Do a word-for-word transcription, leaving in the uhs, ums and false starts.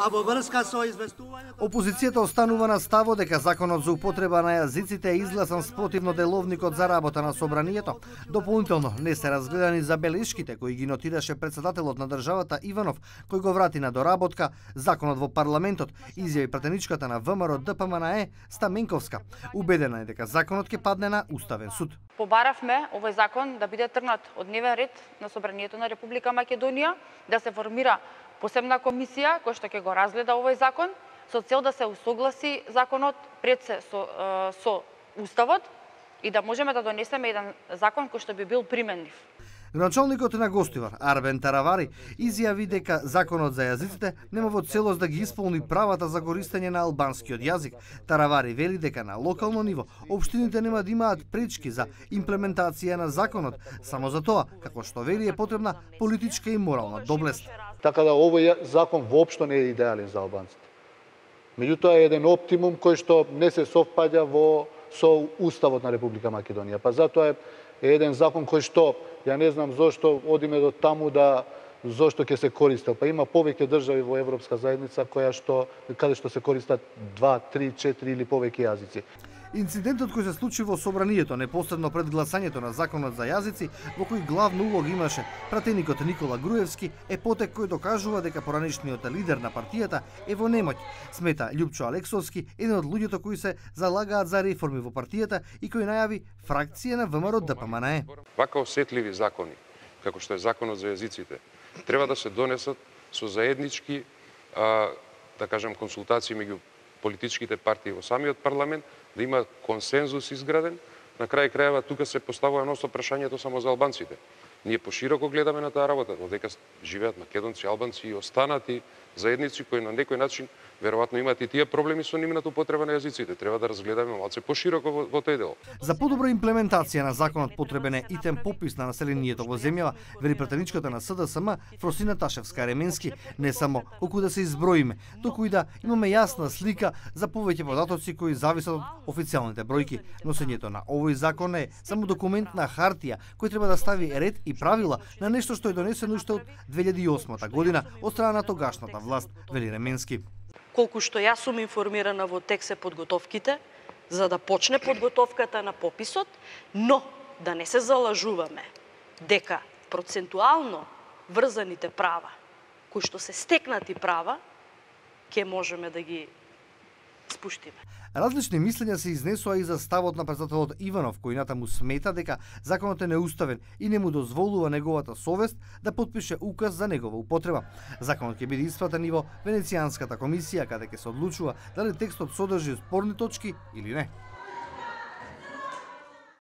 А во врска со известувањето Опозицијата останува на ставот дека законот за употреба на јазиците е изгласан спротивно деловникот за работа на собранието. Дополнително не се разгледани забелешките кои ги нотираше председателот на државата Иванов, кој го врати на доработка законот во парламентот, изјави пратеничката на ВМРО ДПМНЕ Стаменковска. Убедена е дека законот ќе падне на Уставен суд. Побаравме овој закон да биде тргнат од дневен ред на собранието на Република Македонија, да се формира посебна комисија која што ќе го разгледа овој закон со цел да се усогласи законот пред се со, со Уставот и да можеме да донесеме еден закон кој што би бил применлив. Градоначалникот на Гостивар, Арбен Таравари, изјави дека законот за јазиците нема во целост да ги исполни правата за користење на албанскиот јазик. Таравари вели дека на локално ниво општините нема да имаат пречки за имплементација на законот, само за тоа, како што вели, е потребна политичка и морална доблест. Така да овој закон воопшто не е идеален за албанците. Меѓутоа е еден оптимум кој што не се совпаѓа во со Уставот на Република Македонија. Па затоа е еден закон кој што ја не знам зошто одиме до таму да зошто ќе се користел. Па има повеќе држави во Европска заедница која што каде што се користат два, три, четири или повеќе јазици. Инцидентот кој се случи во собранието непосредно пред гласањето на законот за јазици, во кој главна улога имаше пратеникот Никола Груевски, е потек кој докажува дека поранешниот лидер на партијата е во немоќ, смета Љупчо Алексовски, еден од луѓето кои се залагаат за реформи во партијата и кој најави фракција на ВМРО ДПМНЕ. Вака осетливи закони, како што е законот за јазиците, треба да се донесат со заеднички, а, да кажам, консултации меѓу политичките партии во самиот парламент, да има консензус изграден. На крај крајава тука се поставува носно прашањето само за албанците. Ние пошироко гледаме на таа работа, додека живеат македонци, албанци и останати заедници кои на некој начин веројатно имаат и тие проблеми со нивната употреба на јазиците. Треба да разгледаме малце пошироко во, во тој дел. За подобра имплементација на законот потребен е итен попис на населението во земјава, вели пратеничката на СДСМ Фросина Ташевска-Ременски, не само колку да се изброиме, туку и да имаме јасна слика за повеќе податоци кои зависат од официјалните бројки. Носењето на овој закон е само документ на хартија кој треба да стави ред и правила на нешто што е донесено уште од две илјади и осма година од страна на тогашната власт, вели Ременски. Колку што јас сум информирана, во тек се подготовките за да почне подготовката на пописот, но да не се залажуваме дека процентуално врзаните права, кои што се стекнати права, ќе можеме да ги спуштиме. Различни мислења се изнесоа и за ставот на председателот Иванов, кој натаму смета дека законот е неуставен и не му дозволува неговата совест да подпише указ за негова употреба. Законот ќе биде испратен и во Венецијанската комисија, каде ќе се одлучува дали текстот содржи спорни точки или не.